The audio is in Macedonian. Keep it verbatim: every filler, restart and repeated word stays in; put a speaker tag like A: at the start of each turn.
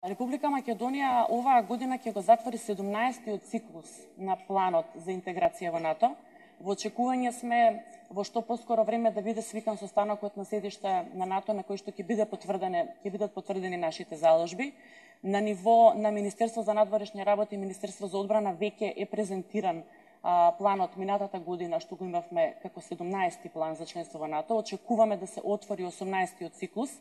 A: Република Македонија оваа година ќе го затвори седумнаесеттиот циклус на планот за интеграција во НАТО. Во очекување сме во што поскоро време да биде свикан состанокот на седишта на НАТО на кој што ќе биде потврдени ќе бидат потврдени нашите заложби. На ниво на Министерство за надворешни работи и Министерство за одбрана веќе е презентиран а, планот минатата година што го имавме како седумнаесети план за членство во НАТО. Очекуваме да се отвори осумнаесеттиот циклус.